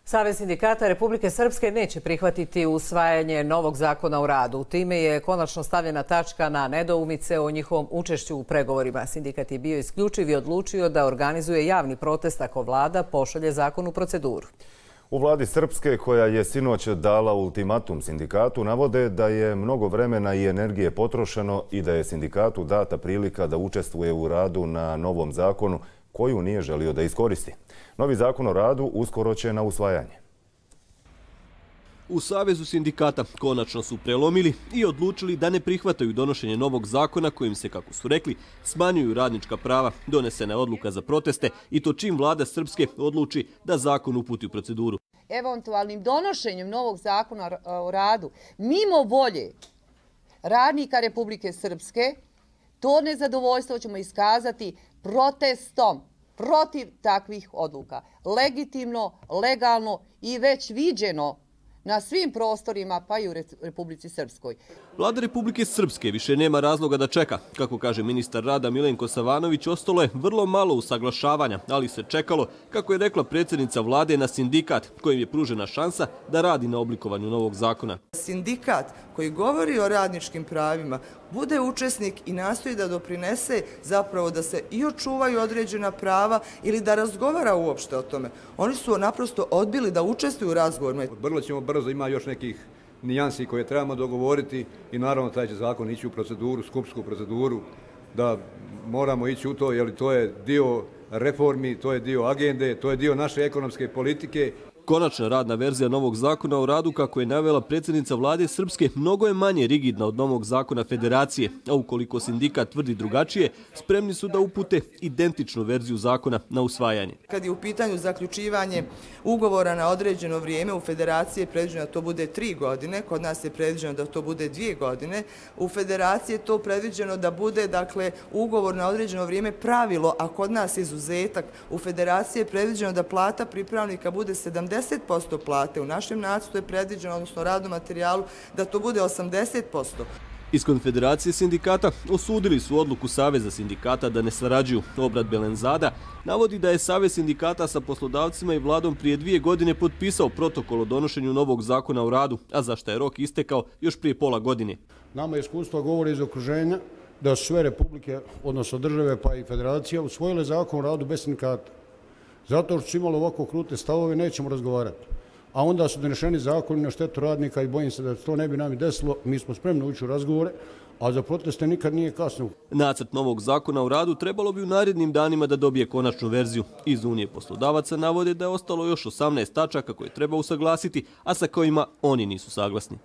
Savez sindikata Republike Srpske neće prihvatiti usvajanje novog zakona o radu. Time je konačno stavljena tačka na nedoumice o njihovom učešću u pregovorima. Sindikat je bio isključiv i odlučio da organizuje javni protest ako vlada pošalje zakon u proceduru. U vladi Srpske, koja je sinoć dala ultimatum sindikatu, navode da je mnogo vremena i energije potrošeno i da je sindikatu data prilika da učestvuje u radu na novom zakonu koju nije želio da iskoristi. Novi zakon o radu uskoro će na usvajanje. U Savezu sindikata konačno su prelomili i odlučili da ne prihvataju donošenje novog zakona kojim se, kako su rekli, smanjuju radnička prava. Donesena je odluka za proteste i to čim vlada Srpske odluči da zakon uputi u proceduru. Eventualnim donošenjem novog zakona o radu mimo volje radnika Republike Srpske, to nezadovoljstvo ćemo iskazati protestom protiv takvih odluka. Legitimno, legalno i već viđeno na svim prostorima, pa i u Republici Srpskoj. Vlada Republike Srpske više nema razloga da čeka. Kako kaže ministar rada Milenko Savanović, ostalo je vrlo malo usaglašavanja, ali se čekalo, kako je rekla predsjednica vlade, na sindikat, kojim je pružena šansa da radi na oblikovanju novog zakona. Sindikat koji govori o radničkim pravima bude učesnik i nastoji da doprinese zapravo da se i očuvaju određena prava ili da razgovara uopšte o tome. Oni su naprosto odbili da učestvuju u razgovorima. Vrlo ćemo brzo, ima još nekih nijansi koje trebamo dogovoriti i naravno taj će zakon ići u proceduru, skupsku proceduru, da moramo ići u to, jer to je dio reformi, to je dio agende, to je dio naše ekonomske politike. Konačna radna verzija novog zakona o radu, kako je navela predsjednica vlade Srpske, mnogo je manje rigidna od novog zakona federacije, a ukoliko sindikat tvrdi drugačije, spremni su da upute identičnu verziju zakona na usvajanje. Kad je u pitanju zaključivanje ugovora na određeno vrijeme, u federaciji je predviđeno da to bude 3 godine, kod nas je predviđeno da to bude 2 godine. U federaciji je to predviđeno da bude, dakle, ugovor na određeno vrijeme pravilo, a kod nas izuzetak. U federaciji je predviđeno da plata pripravnika bude 70% plate. U našem nacrtu je predviđeno, odnosno radnom materijalu, da to bude 80%. Iz Konfederacije sindikata osudili su odluku Saveza sindikata da ne sarađuju. Obrat Belenzada navodi da je Savez sindikata sa poslodavcima i vladom prije 2 godine potpisao protokol o donošenju novog zakona o radu, a za što je rok istekao još prije pola godine. Nama iskustvo govori iz okruženja da su sve republike, odnosno države pa i federacija, usvojile zakon o radu bez sindikata. Zato što su imali ovako krute stavove, nećemo razgovarati. A onda su donešeni zakoni na štetu radnika i bojim se da to ne bi nam i desilo. Mi smo spremni ući u razgovore, a za proteste nikad nije kasno. Nacrt novog zakona o radu trebalo bi u narednim danima da dobije konačnu verziju. Iz Unije poslodavaca navode da je ostalo još 18 tačaka koje treba usaglasiti, a sa kojima oni nisu saglasni.